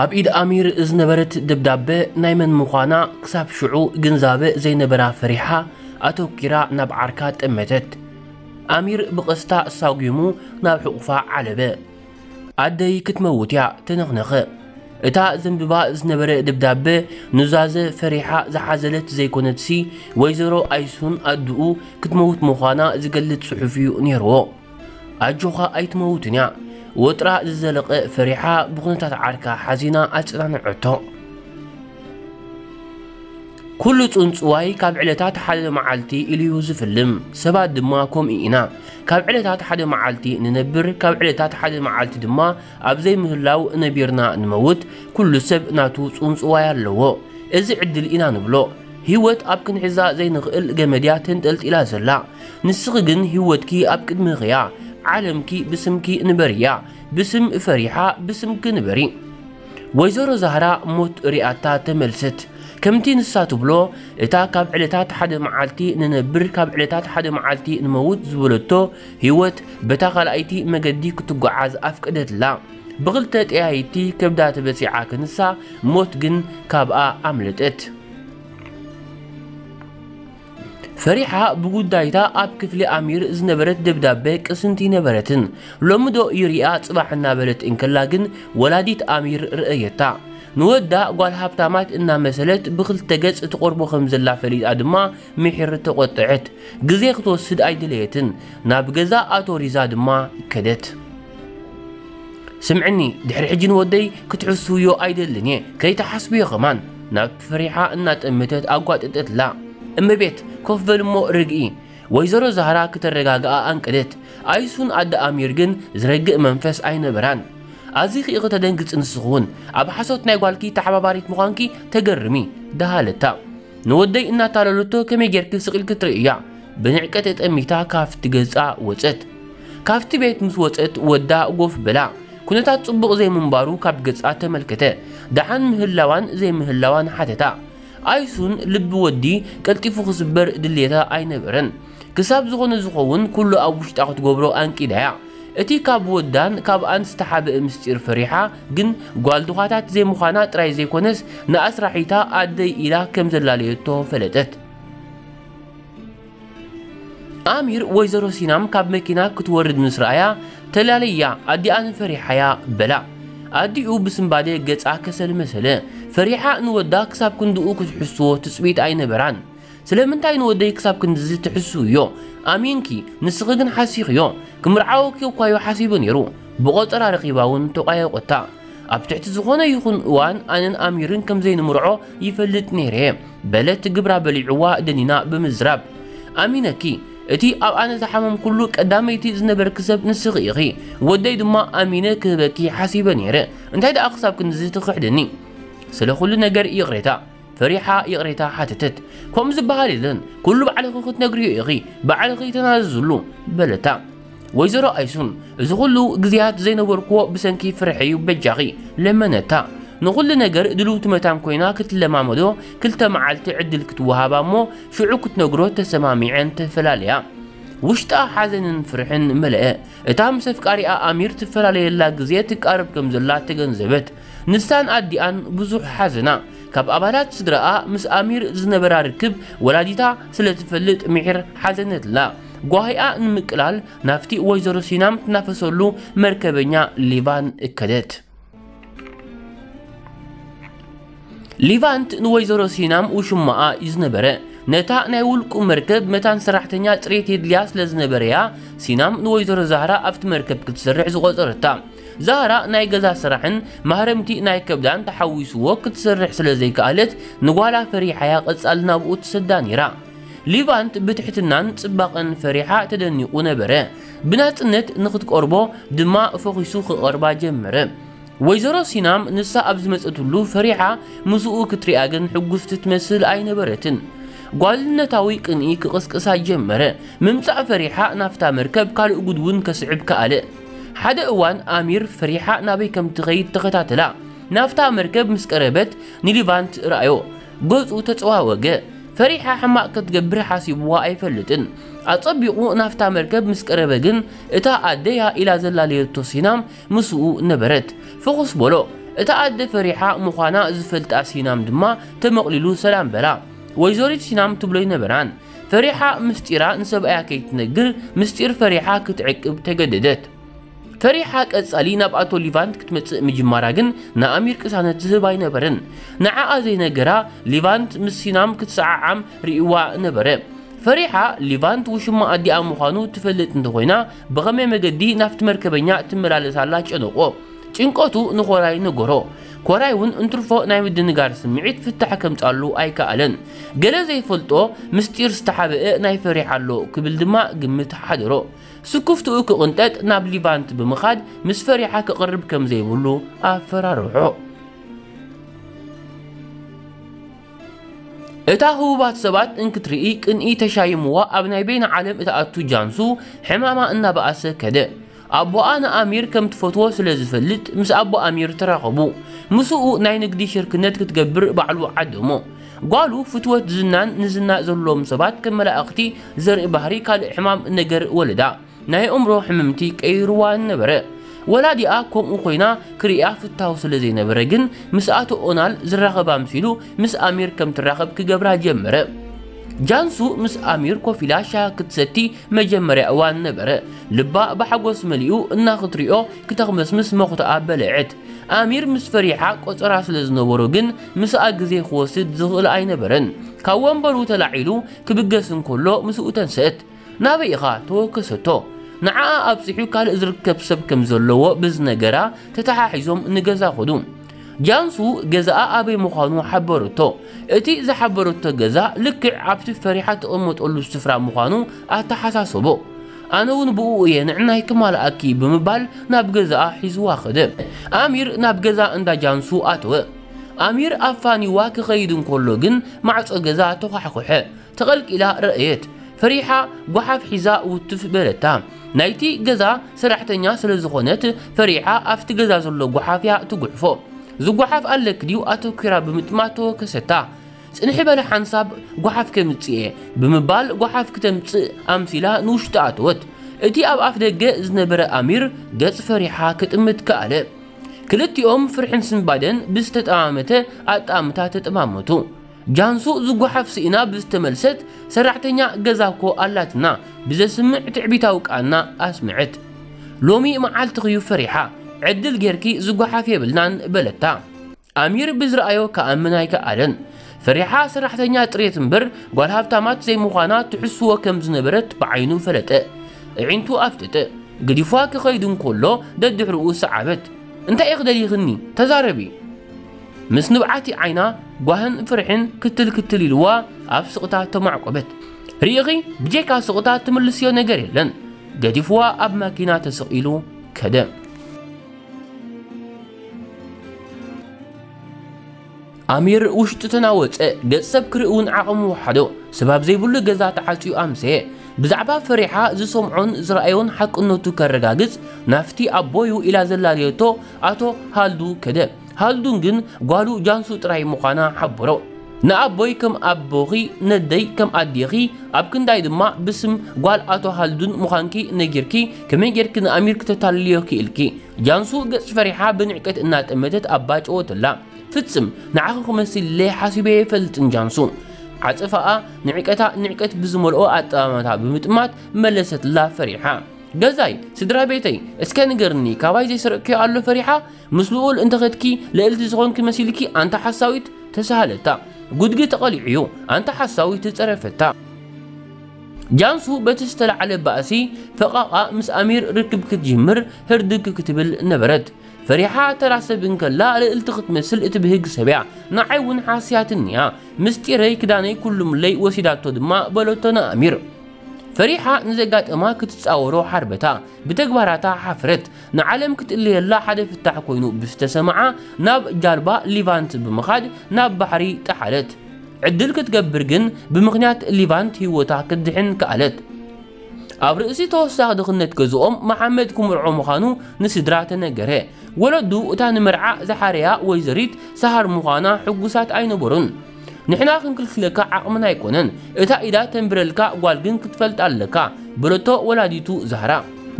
ኣብ ኢድ ኣሚር ዝነበረት ደብዳበ ናይ መን ምዃና ክሳብ ሽዑ ግንዛበ ዘይነበራ ፈሪሓ፣ ኣተኲራ ናብ ዓርካ ጠመተት። ኣሚር ብቐስታ ሳጒሙ ናብ ሕቑፋ ዓለበ። "ኣደይ ክትመውት እያ!" ተነኽነኸ። እታ ዘንብባ ዝነበረ ደብዳበ ኑዛዘ ፈሪሓ ዝሓዘለት ዘይኮነትሲ፣ ወይዘሮ ኣይሱን ኣድኡ ክትመውት ምዃና ዝገልጽ ጽሑፍ እዩ ነይርዎ። "ኣጆኻ ኣይትመውትን እያ!" ወጥራ ዝዘለቐ ፈሪሓ ብኹነታት ዓርካ ሓዚና ኣጸናንዐቶ። ኩሉ ጽንጽዋይ ካብ ዕለታት ሓደ መዓልቲ ኢሉ እዩ ዝፍልም። ሰባት ድማ ከምኡ ኢና። ካብ ዕለታት ሓደ መዓልቲ ንነብር፣ ካብ ዕለታት ሓደ መዓልቲ ድማ ኣብ ዘይምህላው ነቢርና ንመውት። ኩሉ ሰብ ናቱ ጽንጽዋይ ኣለዎ። እዚ ዕድል ኢና ንብሎ። ህይወት ኣብ ክንሕዛ ዘይንኽእል ገመድ እያ ተንጠልጢላ ዘላ። ንስኺ ግን ህይወትኪ ኣብ ቅድሚኺ እያ። ዓለምኪ ብስምኪ ንበርያ። ብስም ፈሪሓ ብስምኪ ንበሪ። ወይዘሮ ዛህራ ሞት ሪኣታ ተመልሰት። ከምቲ ንሳ ትብሎ፣ እታ ካብ ዕለታት ሓደ መዓልቲ ንነብር፣ ካብ ዕለታት ሓደ መዓልቲ ንመውት ዝበለቶ ህይወት በታ ካልኣይቲ መገዲ ክትጓዓዝ ኣፍቀደትላ። ብኽልተ ጠያይቲ ከብዳ ተበሲዓ ክንሳ፣ ሞት ግን ካብኣ ኣምለጠት። ፈሪሓ ብጉዳይታ ኣብ ክፍሊ ኣሚር ዝነበረት ደብዳበ ቅስንቲ ነበረትን። ሎሚ ዶ ይሪኣ ጽባሕ እናበለት እንከላ ግን ወላዲት ኣሚር ረኣየታ። ንወዳ ጓል ሃብታማት እናመሰለት ብኽልተ ገጽ ትቐርቦ ከም ዘላ ፈሊጣ ድማ ምሒር ተቖጠዐት። ግዜ ክትወስድ ኣይደለየትን። ናብ ገዛ ኣቶ ሪዛ ድማ ከደት። "ስምዕኒ፣ ድሕሪ ሕጂ ንወደይ ክትሕስውዮ ኣይደልን እየ፣ ከይትሓስብዮ ከማን!" ናብ ፈሪሓ እናጠመተት ኣጓጠጠትላ። "እመቤት፣ ኮፍ በል እሞ ርግኢ!" ወይዘሮ ዛህራ ክተረጋግኣ ኣንቀደት። ኣይሱን ኣደ ኣሚር ግን ዝረግእ መንፈስ ኣይነበራን። "ኣዚኺ ኢኺ ተደንግጺ ንስኺ እውን፣ ኣብ ሓሶት ናይ ጓልኪ ተሓባባሪት ምዃንኪ ተገርሚ!" ደሃለታ። ንወደይ እናታለለቶ ከመይ ጌርኪ ስቕ ኢልኪ ትርእያ? ብንዕቀት ተጠሚታ ካብቲ ገጻ ወጸት። ካብቲ ቤት ምስ ወጸት ወዳ ጎፍ በላ። ኩነታት ጽቡቕ ዘይምንባሩ ካብ ገጻ ተመልከተ። ደሓን ምህላዋን ዘይምህላዋን ሓተታ። ኣይሱን ልቢ ወዲ ቀልጢፉ ክስበር ድልየታ ኣይነበረን። ክሳብ ዝኾነ ዝኸውን ኩሉ ኣብ ውሽጣ ክትገብሮ ኣንቂዳያ። እቲ ካብ ወዳን ካብኣን ዝተሓብአ ምስጢር ፈሪሓ ግን ጓል ድዃታት ዘይምዃና ጥራይ ዘይኮነስ ንኣስራሒታ ኣደይ ኢላ ከም ዘላለየቶ ፈለጠት። ኣሚር ወይዘሮ ሲናም ካብ መኪና ክትወርድ ምስ ረኣያ፣ "ተላለያ፣ ኣዲኣ ንፈሪሓያ" በላ። ኣዲኡ ብስንባደ ገጻ ከሰል መሰለ። ፈሪሓ ንወዳ ክሳብ ክንድኡ ክትሕስዎ ትጽቢት ኣይነበራን። "ስለምንታይ ንወደይ ክሳብ ክንድዚ ትሕስውዮ? ኣሚንኪ፣ ንስኺ ግን ሓሲኽዮ። ክምርዓወኪ እኳዮ ሓሲቡ ነይሩ። ብቆጸራ ረኺባ እውን ተቋየቆታ። ኣብ ትሕቲ ዝኾነ ይኹን እዋን ኣነን ኣሚርን ከም ዘይንምርዖ ይፈልጥ ነይረ" በለት ግብራ በሊዕዋ ደኒና ብምዝራብ። "ኣሚነኪ፣ እቲ ኣብ ኣነ ዝሓመምኩሉ ቀዳመይቲ ዝነበርኪ ሰብ ንስኺ ኢኺ። ወደይ ድማ ኣሚነ ክህበኪ ሓሲበ ነይረ። እንታይ ደኣ ክሳብ ክንድዚ ትኽሕድኒ?" "ስለ ኩሉ ነገር ይቕሬታ" ፈሪሓ ይቕሬታ ሓተተት። "ከምኡ ዝበሃል የለን፣ ኩሉ ባዕልኺ ክትነግርዮ ኢኺ፣ ባዕልኺ ተናዘዝሉ" በለታ። ወይዘሮ ኣይሱን፣ "እዚ ኩሉ ግዜያት ዘይነበርክዎ ብሰንኪ ፍርሒ እዩ፣ በጃኺ" ለመነታ። ንኹሉ ነገር ድልውቲ መታን ኮይና ክትለማመዶ ክልተ መዓልቲ ዕድል ክትወሃባ እሞ ሽዑ ክትነግሮ ተሰማሚዐን ተፈላለያ። ውሽጣ ሓዘንን ፍርሕን መለአ። እታ ምስ ኣፍቃሪኣ ኣሚር ትፈላለየላ ግዜ ትቃረብ ከም ዘላ ተገንዘበት። ንሳን ኣዲኣን ብዙሕ ሓዘና። ካብ ኣባላት ስድራኣ ምስ ኣሚር ዝነበራ ርክብ ወላዲታ ስለ ትፈልጥ ምሒር ሓዘነትላ። ጓሂኣ ንምቅላል ናብቲ ወይዘሮ ሲናም ትናፈሰሉ መርከበኛ ሊቫን እከደት። ሊቫንት ንወይዘሮ ሲናም ውሽማኣ እዩ ዝነበረ። ነታ ናይ ውልቁ መርከብ መታን ሰራሕተኛ ጽሬት የድልያ ስለ ዝነበረያ፣ ሲናም ንወይዘሮ ዛህራ ኣብቲ መርከብ ክትሰርሕ ዝቖጸረታ። ዛህራ ናይ ገዛ ስራሕን ማህረምቲ ናይ ከብዳን ተሓዊስዎ ክትሰርሕ ስለ ዘይከኣለት፣ ንጓላ ፈሪሓያ ቀጻሊ ናብኡ ትሰዳ ነይራ። ሊቫንት ብትሕትናን ጽባቐን ፈሪሓ ተደኒቑ ነበረ። ብናጽነት ንኽትቀርቦ ድማ ፈኺሱ ክቐርባ ጀመረ። ወይዘሮ ሲናም ንሳ ኣብ ዝመጸትሉ ፈሪሓ ምስኡ ክትሪኣ ግን ሕጉስቲ ትመስል ኣይነበረትን። ጓልነታዊ ቅንኢ ክቕስቅሳ ጀመረ። ምምጻእ ፈሪሓ ናብታ መርከብ ካልእ ጉድ እውን ከስዕብ ከኣለ። ሓደ እዋን ኣሚር ፈሪሓ ናበይ ከም ትኸይድ ተኸታተላ። ናብታ መርከብ ምስ ቀረበት ንሊቫንት ረኣዮ። ገጹ ተጸዋወገ። ፈሪሓ ሕማቕ ክትገብር ሓሲብዋ ኣይፈልጥን። ኣጸቢቑ ናብታ መርከብ ምስ ቀረበ ግን እታ ኣደያ ኢላ ዘላለየቶ ሲናም ምስኡ ነበረት። ፍኹስ በሎ። እታ ኣደ ፈሪሓ ምዃና ዝፈልጣ ሲናም ድማ ተመቕሊሉ ሰላም በላ። ወይዘሪት ሲናም ትብሎ ኣይነበራን። ፈሪሓ ምስጢራ ንሰብኣያ ከይትነግር ምስጢር ፈሪሓ ክትዕቅብ ተገደደት። ፈሪሓ ቀጻሊ ናብ ኣቶ ሊቫንት ክትመጽእ ምጅማራ ግን ንኣሚር ቅሳነት ዝህብ ኣይነበረን። ንዓኣ ዘይነገራ ሊቫንት ምስ ሲናም ክትሰዓዓም ርእይዋ ነበረ። ፈሪሓ ሊቫንት ውሽማ ኣዲኣ ምዃኑ ትፈልጥ እንተኾይና ብኸመይ መገዲ ናብቲ መርከበኛ ትመላለስ ኣላ ጨነቆ። ጭንቀቱ ንኮራይ ነገሮ። ኮራይ እውን እንትርፎ ናይ ምድንጋር ስምዒት ፍታሕ ከምጻሉ ኣይከኣለን። ገለ ዘይፈልጦ ምስጢር ዝተሓብአ ናይ ፈሪሓ ኣሎ ክብል ድማ ግምት ሓደሮ። ስኩፍትኡ ክቕንጠጥ ናብ ሊቫንት ብምኻድ ምስ ፈሪሓ ክቕርብ ከም ዘይብሉ ኣፈራርሖ። እታ ህቡባት ሰባት እንክትርኢ ቅንኢ ተሻይምዋ ኣብ ናይ በይነ ዓለም እትኣቱ ጃንሱ ሕማማ እናበኣሰ ከደ። ኣቦኣ ንኣሚር ከም ትፈትዎ ስለ ዝፈልጥ ምስ ኣቦ ኣሚር ተራኸቡ። ምስኡ ናይ ንግዲ ሽርክነት ክትገብር ባዕሉ ዓደሞ። ጓሉ ፍትወት ዝናን ንዝና ዘለዎም ሰባት ከም መላእኽቲ ዘርኢ ባህሪ ካልእ ሕማም ነገር ወለዳ። ናይ ኣእምሮ ሕምምቲ ቀይርዋ ነበረ። ወላዲኣ ከምኡ ኮይና ክርእያ ፍታው ስለ ዘይነበረ ግን ምስ ኣቶ ኦናል ዝራኸብ ኣምሲሉ ምስ ኣሚር ከም ትራኸብ ክገብራ ጀመረ። ጃንሱ ምስ ኣሚር ኮፍ ኢላ ሻሂ ክትሰቲ መጀመርያ እዋን ነበረ። ልባ ብሓጎስ መሊኡ እና ክትሪኦ ክተኽመስምስ መኹተኣ በለዐት። ኣሚር ምስ ፈሪሓ ቆጸራ ስለ ዝነበሮ ግን ምስኣ ግዜ ክወስድ ዝኽእል ኣይነበረን። ካብ ወንበሩ ተላዒሉ ክብገስ እንከሎ ምስኡ ተንሰአት። ናበይ ኢኻ? ተወከሰቶ። ንዓኣ ኣብጺሑ ካልእ ዝርከብ ሰብ ከም ዘለዎ ብዝነገራ ተተሓሒዞም ንገዛ ኸዱ። ጃንሱ ገዛኣ ኣበይ ምዃኑ ሓበረቶ። እቲ ዝሓበረቶ ገዛ ልክዕ ኣብቲ ፈሪሓ ትቕመጠሉ ስፍራ ምዃኑ ኣተሓሳሰቦ። ኣነ እውን ብኡ እየ ንዕናይ ክማልኣኪ ብምባል ናብ ገዛኣ ሒዝዋ ኸደ። ኣሚር ናብ ገዛ እንዳ ጃንሱ ኣተወ። ኣሚር ኣፋኒዋ ክኸይድ እንከሎ ግን ማዕጾ ገዛ ተዃሕኩሐ። ተቐልቂላ ረኣየት። ፈሪሓ ጓሓፍ ሒዛ ውትፍ በለታ። ናይቲ ገዛ ሰራሕተኛ ስለ ዝኾነት ፈሪሓ ኣብቲ ገዛ ዘሎ ጓሓፍ እያ ትጉሕፎ። ዝጓሓፍ ኣለኪ ድዩ ኣተኲራ ብምጥማት ተወከሰታ። ጽንሒ በለ ሓንሳብ ጓሓፍ ከምጽእ እየ ብምባል ጓሓፍ ክተምጽእ ኣምሲላ ንውሽጢ ኣተወት። እቲ ኣብ ኣፍ ደገ ዝነበረ ኣሚር ገጽ ፈሪሓ ክጥምት ከኣለ። ክልቲኦም ፍርሕን ስንባደን ብዝተጠማመተ ኣጠማምታ ተጠማመቱ። ጃንሱ ዝጓሓፍ ስኢና ብዝተመልሰት ሰራሕተኛ ገዛ እኮ ኣላትና ብዘስምዕ ትዕቢታዊ ቃና ኣስምዐት። ሎሚ መዓልትኺ እዩ ፈሪሓ፣ ዕድል ጌርኪ ዝጓሓፍ የብልናን በለታ። ኣሚር ብዝረኣዮ ክኣምን ኣይከኣለን። ፈሪሓ ሰራሕተኛ ጥሬት እምበር ጓል ሃብታማት ዘይምዃና ትሕስዎ ከም ዝነበረት ብዓይኑ ፈለጠ። ኣዒንቱ ኣፍጠጠ። ገዲፋ ክኸይድ እንከሎ ደድሕርኡ ሰዓበት። እንታይ ኢኺ ደሊኽኒ? ተዛረቢ። ምስ ንብዓቲ ዓይና ጓህን ፍርሕን ክትል ክትል ኢልዋ ኣብ ስቕታ ተማዕቆበት። ርኢኺ ብጀካ ስቕታ ትምልስዮ ነገር የለን። ገዲፍዋ ኣብ ማኪና ተሰቒሉ ከደ። ኣሚር ውሽጡ ተናወጸ። ገጽ ሰብ ክርኢ እውን ዓቕሚ ወሓዶ። ሰብ ኣብ ዘይብሉ ገዛ ተዓጽዩ ኣምሰየ። ብዛዕባ ፈሪሓ ዝሰምዖን ዝረኣዮን ሓቅነቱ ከረጋግጽ ናብቲ ኣቦዩ ኢላ ዘላለየቶ ኣቶ ሃልዱ ከደ። ሃልዱን ግን ጓሉ ጃንሱ ጥራይ ምዃና ሓበሮ። ንኣቦይ ከም ኣቦኺ፣ ነደይ ከም ኣዴኺ፣ ኣብ ክንዳይ ድማ ብስም ጓል ኣቶ ሃልዱን ምዃንኪ ነጊርኪ ከመይ ጌርኪ ንኣሚር ክተታልልዮ ክኢልኪ? ጃንሱ ገጽ ፈሪሓ ብንዕቀት እናጠመተት ኣባ ጨወተላ። ፍጽም ንዓኺ ክመስል ኢለ ሓሲበ ኣይፈልጥን ጃንሱ። ዓጸፋኣ ንዕቀታ ንዕቀት ብዝመልኦ ኣጠማምታ ብምጥማት መለሰትላ ፈሪሓ። ገዛይ፣ ስድራ ቤተይ፣ እስከ ንገርኒ ካባይ ዘይሰረቅክዮ ኣሎ ፈሪሓ? ምስ ልኡል እንተኸድኪ ልእልቲ ዝኾንኪ መሲልኪ ኣንታ ሓሳዊት ተሳሃለታ። ጉድጊ ተቐሊዑ እዩ ኣንታ ሓሳዊት ተጸረፈታ። ጃንሱ በቲ ዝተላዕለ ባእሲ ፈቓቓ ምስ ኣሚር ርክብ ክትጅምር ህርድግ ክትብል ነበረት። ፈሪሓ ተራ ሰብ እንከላ ልእልቲ ክትመስል እትብህግ ሰብ እያ። ንዓይ እውን ሓስያትኒ እያ። ምስጢረይ ክዳነይ ኩሉ ምለይ ወሲዳቶ ድማ በለቶ ንኣሚር። ፈሪሓ ንዘጋጠማ ክትጻወሮ ሓርበታ። ብተግባራታ ሓፍረት። ንዓለም ክትእለየላ ሓደ ፍታሕ ኮይኑ ብዝተሰምዓ ናብ ጃልባ ሊቫንት ብምኻድ ናብ ባሕሪ ጠሓለት። ዕድል ክትገብር ግን ብምኽንያት ሊቫንት ህይወታ ክትድሕን ከኣለት። ኣብ ርእሲ ተወሳኺ ድኽነት ገዝኦም መሓመድ ክምርዖ ምዃኑ ንስድራ ተነገረ። ወለዱ እታ ንመርዓ ዝሓረያ ወይዘሪት ሰሃር ምዃና ሕጉሳት ኣይነበሩን። ንሕና ክንክልክለካ ዓቕምና ኣይኮነን፣ እታ ኢዳ ተንብረልካ ጓል ግን ክትፈልጥ ኣለካ በለቶ ወላዲቱ ዛህራ።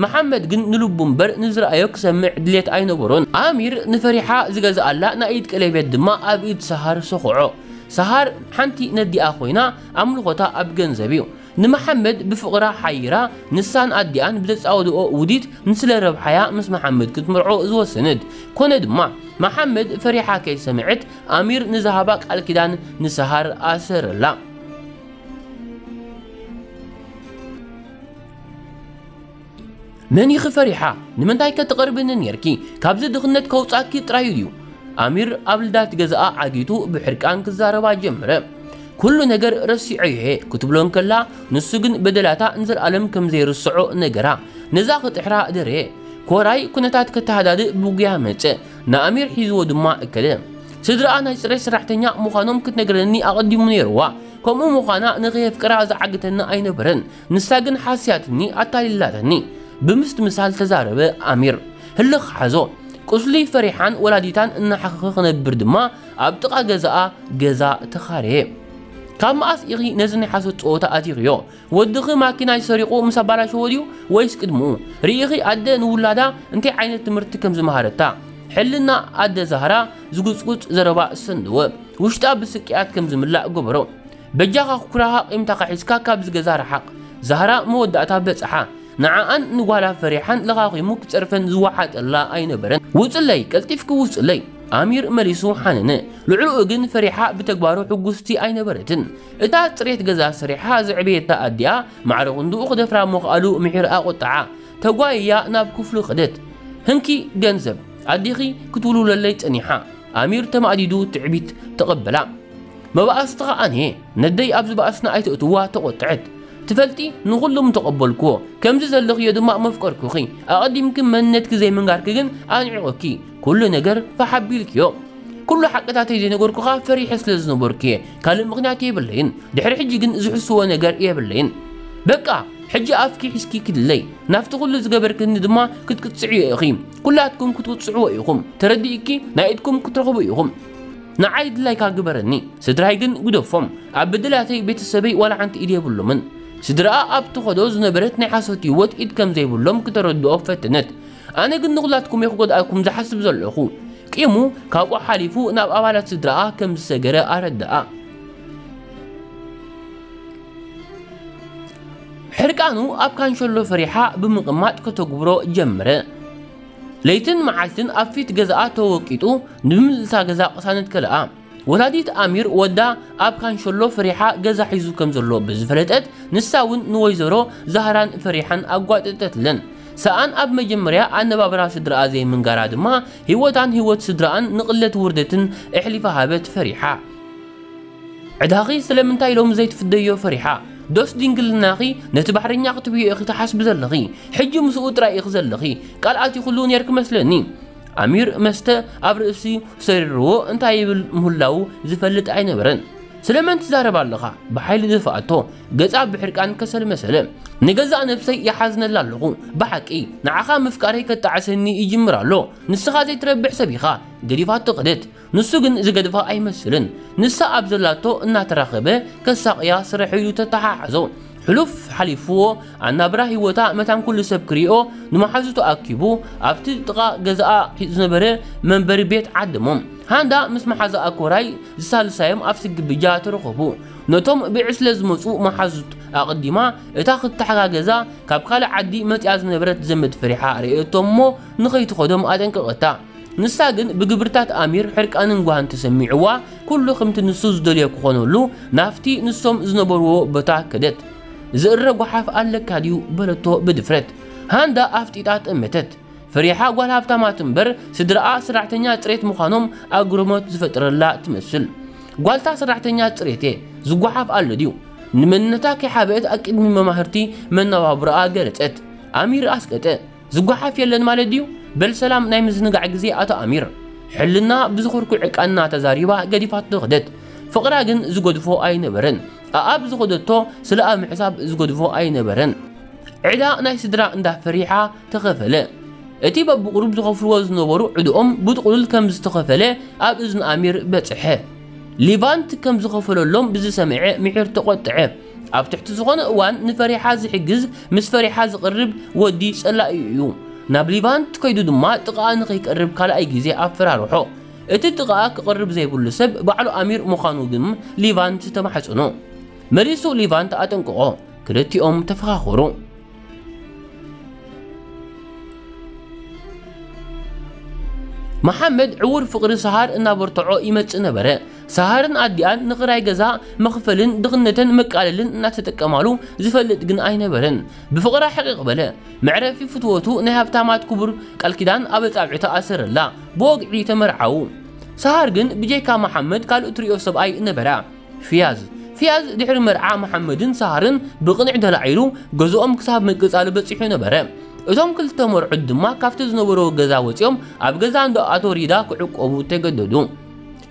መሓመድ ግን ንልቡ እምበር ንዝረኣዮ ክሰምዕ ድሌት ኣይነበሮን። ኣሚር ንፈሪሓ ዝገዝኣላ ናይ ኢድ ቀለቤት ድማ ኣብ ኢድ ሰሃር ሰኹዖ። ሰሃር ሓንቲ ነዲኣ ኮይና ኣምልኾታ ኣብ ገንዘብ እዩ። ንመሓመድ ብፍቕራ ሓይራ ንሳን ኣዲኣን ብዘጻወድኦ ውዲት ንስለ ረብሓያ ምስ መሓመድ ክትምርዖ ዝወሰነት። ኮነ ድማ መሓመድ ፈሪሓ ከይሰምዐት ኣሚር ንዝሃባ ቃል ኪዳን ንሰሃር ኣሰረላ። መን ኢኺ ፈሪሓ? ንምንታይ ከ ትቐርብኒ ኔርኪ? ካብዚ ድኽነት ከውጻኪ ጥራዩ ድዩ? ኣሚር ኣብ ልዳት ገዛኣ ዓጊቱ ብሕርቃን ክዛረባ ጀመረ። ኩሉ ነገር ረሲዐዮ እየ ክትብሎ እንከላ፣ ንሱ ግን በደላታ ንዘለኣለም ከም ዘይርስዖ ነገራ። ነዛ ክጥሕራ ደረየ። ኮራይ ኩነታት ከተሃዳድእ ብጉያ መጸ። ንኣሚር ሒዝዎ ድማ እከለ። ስድራኣ ናይ ጽሬት ሰራሕተኛ ምዃኖም ክትነግረኒ ኣቐዲሙ ነይርዋ። ከምኡ ምዃና ንኸየፍቅራ ዝዓግተኒ ኣይነበረን። ንሳ ግን ሓስያትኒ፣ ኣታሊላትኒ። ብምስትምሳል ተዛረበ ኣሚር። ህልኽ ሓዞ። ቁስሊ ፈሪሓን ወላዲታን እናሓኸኸ ክነብር ድማ ኣብ ጥቓ ገዛኣ ገዛ ተኻረየ። ካብ መኣስ ኢኺ ነዚ ናይ ሓሶት ጸወታ ኣቲኽዮ? ወድኺ ማኪናይ ሰሪቑ ምስ ኣባላሸዎ ድዩ ወይስ ቅድምኡ? ርኢኺ ኣደ ንውላዳ እንታይ ዓይነት ትምህርቲ ከም ዝመሃረታ? ሕልና ኣደ ዛህራ ዝጉጽጉጽ ዘረባ ሰንደወ። ውሽጣ ብስቅያት ከም ዝምላእ ገበሮ። በጃኻ ኩራኻ ቂምታኻ ሒዝካ ካብዚ ገዛ ርሓቕ። ዛህራ መወዳእታ በጽሓ። ንዓኣን ንጓላ ፈሪሓን ለኻኺሙ ክጸርፈን ዝወሓጠላ ኣይነበረን። ውጽለይ፣ ቀልጢፍኪ ውጽለይ። ኣሚር መሊሱ ሓነነ። ልዕሊኡ ግን ፈሪሓ ብተግባሩ ሕጉስቲ ኣይነበረትን። እታ ጽሬት ገዛ ሰሪሓ ዘዕበየታ ኣዲኣ ማዕረ ክንድኡ ክደፍራ ምኽኣሉ ምሒር ኣቖጥዓ። ተጓይያ ናብ ክፍሉ ከደት። ህንኪ ገንዘብ፣ ኣዲኺ ክትውልውለለይ ጸኒሓ። ኣሚር ተማእዲዱ ትዕቢት ተቐበላ። መባእስቲ ኸኣ ነየ፣ ነደይ ኣብዚ ባእስና ኣይተእትዋ ተቖጥዐት። ትፈልጢ፣ ንኹሉ ምተቐበልክዎ፣ ከምዚ ዘለኽዮ ድማ መፍቀርኩኺ። ኣቐዲምኪ መንነትኪ ዘይምንጋርኪ ግን ኣንዒቑኪ። ኩሉ ነገር ፋሕ ኣቢልክዮ። ኩሉ ሓቅታተይ ዘይነገርኩኻ ፈሪሐ ስለ ዝነበርኩ እየ። ካልእ ምኽንያት የብለይን። ድሕሪ ሕጂ ግን ዝሕስዎ ነገር የብለይን። በቃ፣ ሕጂ ኣፍኪ ሒዝኪ ክድለይ። ናብቲ ኩሉ ዝገበርክኒ ድማ ክትቅጽዕዮ ኢኺ። ኩላትኩም ክትቅጽዕዎ ኢኹም። ተረዲእኪ፣ ናይ ኢድኩም ክትረኽቡ ኢኹም። ንዓይ ድላይካ ግበረኒ። ስድራይ ግን ግደፎም። ኣብ በደላተይ ቤተሰበይ ዋላ ሓንቲ ኢድ የብሎምን። ስድራኣ ኣብ ትኸዶ ዝነበረት ናይ ሓሶት ህይወት ኢድ ከም ዘይብሎም ክተረድኦ ፈተነት። ኣነ ግን ንኹላትኩም እየ ክጎድኣኩም ዝሓስብ ዘለኹ። ቂሙ ካብኡ ሓሊፉ ናብ ኣባላት ስድራኣ ከም ዝሰገረ ኣረድኣ። ሕርቃኑ ኣብ ካንሸሎ ፈሪሓ ብምቕማጥ ከተጉብሮ ጀመረ። ለይትን መዓልትን ኣብ ፊት ገዛኣ ተወቂጡ ንምልእታ ገዛ ቅሳነት ከለኣ። ወላዲት ኣሚር ወዳ ኣብ ካንሸሎ ፈሪሓ ገዛ ሒዙ ከም ዘሎ ብዝፈለጠት፣ ንሳ እውን ንወይዘሮ ዛህራን ፈሪሓን ኣጓጠጠትለን። ሰኣን ኣብ መጀመርያ ኣነባብራ ስድራኣ ዘይምንጋራ ድማ፣ ህይወታን ህይወት ስድራኣን ንቕለት ውርደትን ኣሕሊፋ ሃበት ፈሪሓ። ዕዳኺ ስለምንታይ ሎሚ ዘይትፍደዮ ፈሪሓ? ዶስ ድንግልናኺ ነቲ ባሕረኛ ክትብዮ ኢኺ ትሓስቢ ዘለኺ? ሕጂ ምስኡ ጥራይ ኢኺ ዘለኺ። ቃል ኣቲኹሉ ኔርኪ መስለኒ። ኣሚር መስተ ኣብ ርእሲ ሰሪርዎ እንታይ ይብል ምህላዉ ዝፈልጥ ኣይነበረን። ስለመን ትዛረብ ኣለኻ? ብሓይሊ ደፍኣቶ። ገጻ ብሕርቃን ከሰል መሰለ። ንገዛእ ነብሰይ ይሓዝነላ ኣለኹ። ብሓቂ፣ ንዓኻ ምፍቃረይ ከጣዕሰኒ ይጅምር ኣሎ። ንስኻ ዘይትረብሕ ሰብ ኢኻ። ገዲፋቶ ከደት። ንሱ ግን ዝገድፋ ኣይመስልን። ንሳ ኣብ ዘላቶ እናተራኸበ ከሳቕያ ስራሕ ኢሉ ተተሓሓዞ። ሕሉፍ ሓሊፍዎ፣ ኣናብራ ህይወታ መታን ኩሉ ሰብ ክሪኦ ንመሓዙቱ ኣኪቡ ኣብቲ ጥቓ ገዛኣ ዝነበረ መንበሪ ቤት ዓደሞ። ሃንዳ ምስ መሓዛኣ ኮራይ ዝሳልሳዮም ኣብ ስግብጃ ተረኸቡ። ነቶም ብዕስለ ዝመጹ መሓዙት ኣቐዲማ እታ ክትተሓጋገዛ ካብ ካልእ ዓዲ መጺኣ ዝነበረት ዘመድ ፈሪሓ ርእየቶ እሞ ንኸይትኸዶም ኣጠንቀቐታ። ንሳ ግን ብግብርታት ኣሚር ሕርቃንን ጓህን ተሰሚዕዋ፣ ኩሉ ከምቲ ንሱ ዝደልዮ ክኾነሉ ናብቲ ንሶም ዝነበርዎ ቦታ ከደት። ዝእረ ጓሓፍ ኣለካ ድዩ? በለቶ ብድፍረት። ሃንዳ ኣፍጢጣ ጠመተት። ፈሪሓ ጓል ሃብታማት እምበር ስድራኣ ሰራሕተኛ ጽሬት ምዃኖም ኣግርሞት ዝፈጥረላ ትመስል። ጓልታ ሰራሕተኛ ጽሬት እየ፣ ዝጓሓፍ ኣሎ ድዩ? ንመንነታ ከይሓበአት ኣብ ቅድሚ መማህርቲ መነባብሮኣ ገለጸት። ኣሚር ኣስቀጠ። ዝጓሓፍ የለን ማለት ድዩ? በል ሰላም ናይ ምዝንጋዕ ግዜ ኣቶ ኣሚር። ሕልና ብዝኾርኩ ዕቃና ተዛሪባ ገዲፋቶ ኸደት። ፍቕራ ግን ዝገድፎ ኣይነበረን። ኣኣብ ዝኸደቶ ስለኣ ምሕሳብ ዝገድፎ ኣይነበረን። ዕዳ ናይ ስድራ እንዳ ፈሪሓ ተኸፈለ። እቲ በብቑሩብ ዝኸፍልዎ ዝነበሩ ዕድኦም ብጥቕሉል ከም ዝተኸፈለ ኣብ እዝኒ ኣሚር በጽሐ። ሊቫንት ከም ዝኸፈለሎም ብዝሰምዐ ምሒር ተቖጥዐ። ኣብ ትሕቲ ዝኾነ እዋን ንፈሪሓ ዝሕግዝ፣ ምስ ፈሪሓ ዝቕርብ ወዲ ጸላኢኡ እዩ። ናብ ሊቫንት ከይዱ ድማ ጥቓኣ ንኸይቀርብ ካልኣይ ግዜ ኣፈራርሖ። እቲ ጥቓኣ ክቐርብ ዘይብሉ ሰብ ባዕሉ ኣሚር ምዃኑ ግን ሊቫንት ተማሕጸኖ። መሊሱ ሊቫንት ኣጠንቅቖ። ክልቲኦም ተፈኻኸሩ። መሓመድ ዕዉር ፍቕሪ ሰሃር እናበርትዖ ይመጽእ ነበረ። ሰሃርን ኣዲኣን ንኽራይ ገዛ መኽፈልን ድኽነተን መቃለልን እናተጠቀማሉ ዝፈልጥ ግን ኣይነበረን። ብፍቕራ ሕቕቕ በለ። መዕረፊ ፍትወቱ ናይ ሃብታማት ክቡር ቃል ኪዳን ኣብ ኣጻብዕታ ኣሰረላ። ብወግዒ ተመርዓዉ። ሰሃር ግን ብጀካ መሓመድ ካልእ ትሪኦ ሰብኣይ ነበራ። ፊያዝ። ፊያዝ ድሕሪ መርዓ መሓመድን ሰሃርን ብቕንዕ ተላዒሉ ገዝኦም ክሳብ ምቅጻል በጺሑ ነበረ። እቶም ክልተ መርዑት ድማ ካብቲ ዝነበርዎ ገዛ ወጺኦም ኣብ ገዛ እንዳ ኣቶ ሪዳ ክዕቆቡ ተገደዱ።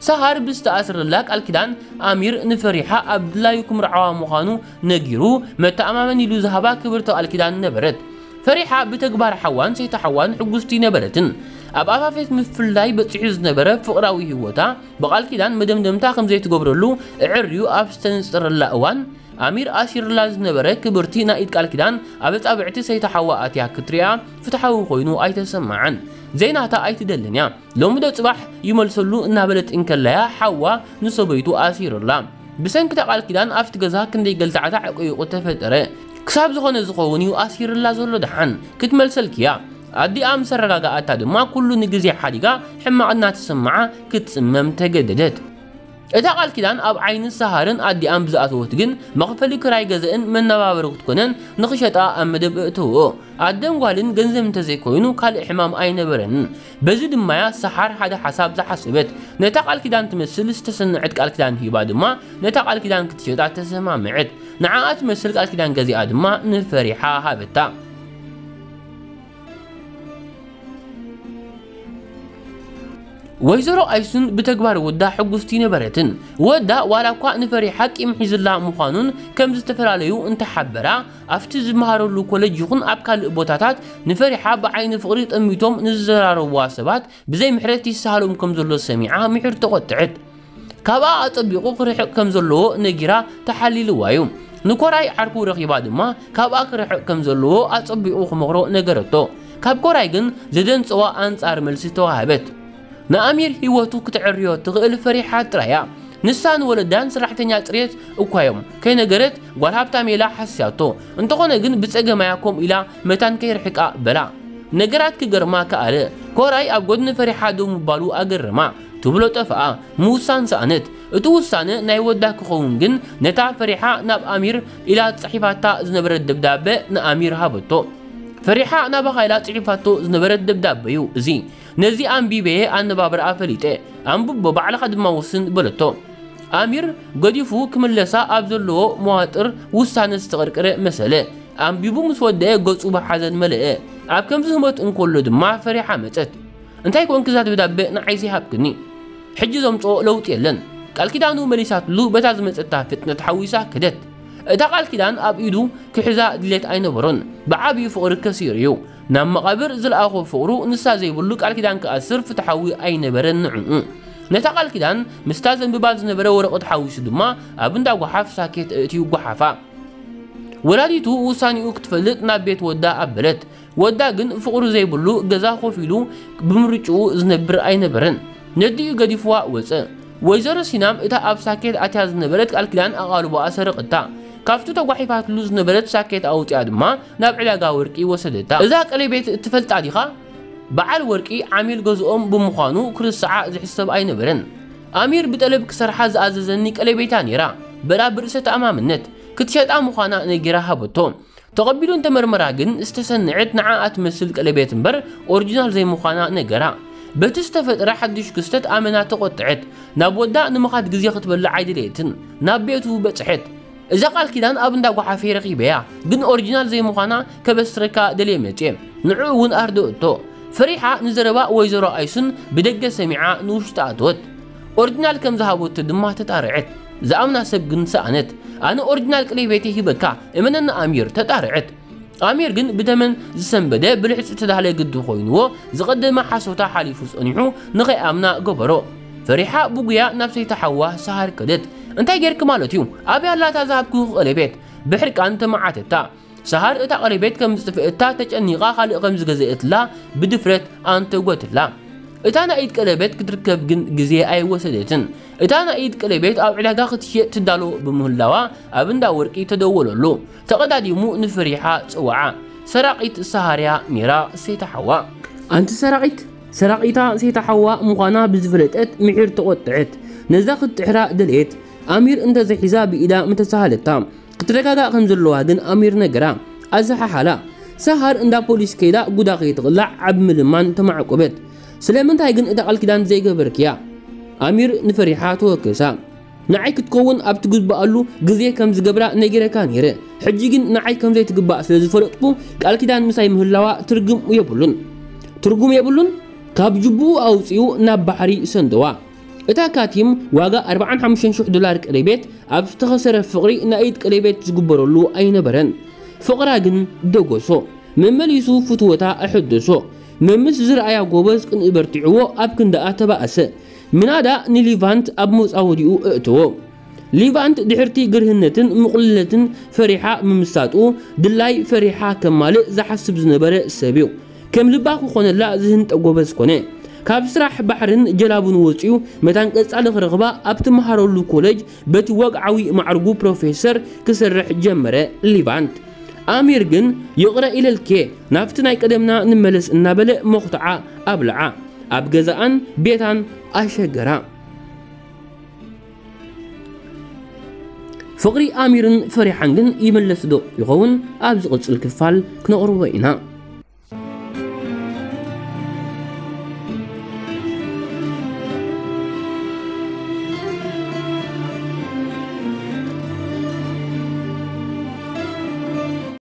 ሰሃር ብዝተኣስረላ ቃል ኪዳን ኣሚር ንፈሪሓ ኣብ ድላዩ ክምርዓዋ ምዃኑ ነጊሩ መተኣማመን ኢሉ ዝሃባ ክብርቲ ቃል ኪዳን ነበረት። ፈሪሓ ብተግባር ሓዋን ሰይቲ ሓዋን ሕጉስቲ ነበረትን። ኣብ ኣፋፌት ምፍላይ በጺሑ ዝነበረ ፍቕራዊ ህይወታ ብቃል ኪዳን መደምደምታ ከም ዘይትገብረሉ ኣዐርዩ ኣብ ዝተንጸረላ እዋን፣ ኣሚር ኣሲርላ ዝነበረ ክብርቲ ናይ ኢድ ቃል ኪዳን ኣብ ኣጻብዕቲ ሰይቲ ሓዋ ኣትያ ክትሪኣ ፍትሓዊ ኮይኑ ኣይተሰማዓን። ዘይናታ ኣይትደልን እያ። ሎሚ ዶ ጽባሕ ይመልሰሉ እናበለት እንከላያ ሓዋ ንሰበይቱ ኣሲርላ። ብሰንኪ እታ ቃል ኪዳን ኣብቲ ገዛ ክንደይ ገልታዕታዕ ዕቁይቁ ተፈጠረ። ክሳብ ዝኾነ ዝኸውን እዩ ኣሲርላ ዘሎ ደሓን። ክትመልሰልኪ እያ። ኣዲኣ ምስ ኣረጋግኣታ ድማ ኩሉ ንግዜ ሓዲጋ ሕማቕ እናተሰምዓ ክትጽመም ተገደደት። እታ ቃል ኪዳን ኣብ ዓይኒ ሰሃርን ኣዲኣን ብዝኣተወት ግን መኽፈሊ ክራይ ገዘእን መነባበሪ ክትኮነን ንኽሸጣ ኣብ መደብ እእተውኦ። ኣደን ጓልን ገንዘብ እንተዘይኮይኑ ካልእ ሕማም ኣይነበረንን። በዚ ድማያ ሰሓር ሓደ ሓሳብ ዝሓሰበት። ነታ ቃል ኪዳን ትመስል ዝተሰነዐት ቃል ኪዳን ሂባ ድማ ነታ ቃል ኪዳን ክትሸጣ ተሰማምዐት። ንዓኣ ትመስል ቃል ኪዳን ገዚኣ ድማ ንፈሪሓ ሃበታ። ወይዘሮ ኣይሱን ብተግባር ወዳ ሕጉስቲ ነበረትን። ወዳ ዋላ እኳ ንፈሪሓ ቂም ሒዝላ ምዃኑን ከም ዝተፈላለዩ እንተሓበራ፣ ኣብቲ ዝመሃረሉ ኮለጅ ይኹን ኣብ ካልእ ቦታታት ንፈሪሓ ብዓይኒ ፍቕሪ ጠሚቶም ንዝዘራረብዋ ሰባት ብዘይ ምሕረት ይሰሃሎም ከም ዘሎ ሰሚዓ ምሒር ተቖጥዐት። ካብኣ ኣጸቢቑ ክርሕቕ ከም ዘለዎ ነጊራ ተሓሊልዋ እዩ። ንኮራይ ዓርኩ ረኺባ ድማ ካብኣ ክርሕቕ ከም ዘለዎ ኣጸቢቑ ክመኽሮ ነገረቶ። ካብ ኮራይ ግን ዘደንጸዋ ኣንጻር መልሲ ተዋህበት። ንኣሚር ህይወቱ ክትዕርዮ ትኽእል ፈሪሓ ጥራይ እያ። ንሳ ንወለዳን ሰራሕተኛ ጽሬት እኳ እዮም። ከይነገረት ጓል ሃብታም ኢላ ሓስያቶ። እንተኾነ ግን ብጸገማያ ከምኡ ኢላ መታን ከይርሕቃ በላ። ነገራት ክገርማ ከኣለ። ኮራይ ኣብ ጎድኒ ፈሪሓ ደው ምባሉ ኣገረማ። ትብሎ ጠፍኣ። ምውሳን ሰኣነት። እቲ ውሳነ ናይ ወዳ ክኸውን ግን ነታ ፈሪሓ ናብ ኣሚር ኢላ ጽሒፋታ ዝነበረት ደብዳበ ንኣሚር ሃበቶ። ፈሪሓ ናባኻ ኢላ ጽሒፋቶ ዝነበረት ደብዳበ እዩ እዚ። ነዚ ኣንቢበየ ኣነባብራኣ ፈሊጠ። ኣንብቦ ባዕልኻ ድማ ወስን በለቶ። ኣሚር ገዲፉ ክምለሳ ኣብ ዘለዎ መዋጥር ውሳነ ዝተቐርቀረ መሰለ። ኣንቢቡ ምስ ወደአ ገጹ ብሓዘን መለአ። ኣብ ከምዚ ህሞት እንከሎ ድማ ፈሪሓ መጸት። እንታይ ኮንኪ እዛ ደብዳበ ንዓይ ዘይሃብክኒ? ሕጂ ዘምጽኦ ለውጢ የለን። ቃል ኪዳኑ መሊሳትሉ በታ ዝመጸታ ፍጥነት ሓዊሳ ከደት። እታ ቃል ኪዳን ኣብ ኢዱ ክሕዛ ድሌት ኣይነበሮን። ብዓብዩ ፍቕሪ ከሲሩ እዩ። ናብ መቓብር ዝለኣኾ ፍቕሩ ንሳ ዘይብሉ ቃል ኪዳን ክኣስር ፍትሓዊ ኣይነበረን ንዕኡ። ነታ ቃል ኪዳን ምስታ ዘንብባ ዝነበረ ወረቐት ሓዊሱ ድማ ኣብ እንዳ ጓሓፍ ሳኬት ኣእትዩ ጓሓፋ። ወላዲቱ ውሳኔኡ ክትፈልጥ ናብ ቤት ወዳ ኣበለት። ወዳ ግን ፍቕሩ ዘይብሉ ገዛ ኮፍ ኢሉ ብምርጭኡ ዝነብር ኣይነበረን። ነዲኡ ገዲፍዋ ወጸ። ወይዘሮ ሲናም እታ ኣብ ሳኬት ኣትያ ዝነበረት ቃል ኪዳን ኣቓልቦኣ ሰረቐታ። ካብቲ ተጓሒፋትሉ ዝነበረት ሳኬት ኣውጺኣ ድማ ናብ ዕዳጋ ወርቂ ወሰደታ። እዛ ቀለቤት ትፈልጣ ዲኻ? በዓል ወርቂ ዓሚል ገዝኦም ብምዃኑ ክርስዓ ዝሕሰብ ኣይነበረን። ኣሚር ብጠለብ ክሰርሓ ዝኣዘዘኒ ቀለቤታ ነይራ። በላ ብርእሰ ተኣማምነት ክትሸጣ ምዃና ነጊራ ሃበቶ። ተቐቢሉ እንተመርመራ ግን ዝተሰንዐት ንዓኣ ትመስል ቀለቤት እምበር ኦሪጂናል ዘይምዃና ነገራ። በቲ ዝተፈጥረ ሓድሽ ክስተት ኣመና ተቖጥዐት። ናብ ወዳ ንምኻድ ግዜ ክትበልዕ ኣይደለየትን። ናብ ቤቱ በጽሐት። እዛ ቃል ኪዳን ኣብ እንዳ ጓሓፈይ ረኺበያ፣ ግን ኦሪጂናል ዘይምዃና ከበስረካ ደልየ መጽየ። ንዕኡ እውን ኣርደእቶ። ፈሪሓ ንዘረባ ወይዘሮ ኣይሱን ብደገ ሰሚዓ ንውሽጢ ኣተወት። ኦሪጂናል ከም ዝሃበቶ ድማ ተጣርዐት። ዝኣምና ሰብ ግን ሰኣነት። ኣነ ኦሪጂናል ቀለቤተይ ሂበካ፣ እመነኒ ኣሚር፣ ተጣርዐት። ኣሚር ግን ብተመን ዝሰንበደ ብልሕጺ ዝተዳህለ ግዲ ኮይንዎ ዝቐደመ ሓሶታ ሓሊፉ ጸኒሑ ንኸይኣምና ገበሮ። ፈሪሓ ብጉያ ናብ ሰይቲ ሓዋ ሰሃር ከደት። እንታይ ጌርኪ ማለት እዩ? ኣበይ ኣላ እታ ዝሃብኩኺ ቀለቤት? ብሕርቃን ተመዓተታ። ሰሃር እታ ቀለቤት ከም ዝጥፍእታ ተጨኒቓ ካልእ ከም ዝገዘእትላ ብድፍረት ኣንተጎትላ። እታ ናይ ኢድ ቀለቤት ክትርከብ ግን ግዜ ኣይወሰደትን። እታ ናይ ኢድ ቀለቤት ኣብ ዕዳጋ ክትሽየጥ ትዳሎ ብምህላዋ ኣብ እንዳ ወርቂ ተደወለሉ። ተቐዳዲሙ ንፈሪሓ ጽውዓ። ሰራቒት ሰሃርያ ኔራ ሴታ ሓዋ። ኣንቲ ሰራቒት፣ ሰራቒታ ሴታ ሓዋ ምዃና ብዝፈለጠት ምሒር ተቖጥዐት። ነዛ ክትጥሕራ ደለየት። ኣሚር እንተዘይሒዛ ብኢዳ ምተሳሃለታ። ክትረጋጋእ ከም ዘለዋ ግን ኣሚር ነገራ። ኣዘሓሓላ። ሰሃር እንዳ ፖሊስ ከይዳ ጉዳ ከይትቕላዕ ዓቢ ምልማን ተማዕቆበት። ስለምንታይ ግን እታ ቃል ኪዳን ዘይገበርክያ? ኣሚር ንፈሪሓ ተወከሳ። ንዓይ ክትከውን ኣብ ትግባኣሉ ግዜ ከም ዝገብራ ነጊረካ ነይረ። ሕጂ ግን ንዓይ ከም ዘይትግባእ ስለ ዝፈለጥኩ ቃል ኪዳን ምሳይ ምህላዋ ትርጉም የብሉን። ትርጉም የብሉን? ካብ ጅቡኡ ኣውጺኡ ናብ ባሕሪ ሰንደዋ። እታ ካቲም ዋጋ ኣርባዓን ሓሙሽተን ሽሕ ዶላር ቀለቤት ኣብ ዝተኸሰረ ፍቕሪ ናይ ኢድ ቀለቤት ዝግበረሉ ኣይነበረን። ፍቕራ ግን ደጎሶ። መመሊሱ ፍትወታ ኣሐደሶ። መምስ ዝረኣያ ጎበዝ ቅንኢ በርቲዕዎ ኣብ ክንዳኣ ተባእሰ። ምናዳ ንሊቫንት ኣብ መጻወዲኡ እእተዎ። ሊቫንት ድሕርቲ ግርህነትን ምቕሉልነትን ፈሪሓ ምምሳጡ ድላይ ፈሪሓ ከማልእ ዝሓስብ ዝነበረ ሰብ እዩ። ከም ልባ ክኾነላ ዝህንጠ ጎበዝ ኮነ። ካብ ስራሕ ባሕርን ጀላቡን ወጺኡ መታን ቀጻሊ ክረኽባ ኣብ ትመሃረሉ ኮለጅ በቲ ወግዓዊ ማዕርጉ ፕሮፌሰር ክሰርሕ ጀመረ። ሊቫንት ኣሚር ግን ይቕረ ኢለልኬ ናብቲ ናይ ቀደምና ንመለስ እናበለ መኹትዓ ኣብልዓ ኣብ ገዛኣን ቤታን ኣሸገራ። ፍቕሪ ኣሚርን ፈሪሓን ግን ይምለስ ዶ ይኸውን? ኣብ ዝቕጽል ክፋል ክነቕርቦ ኢና።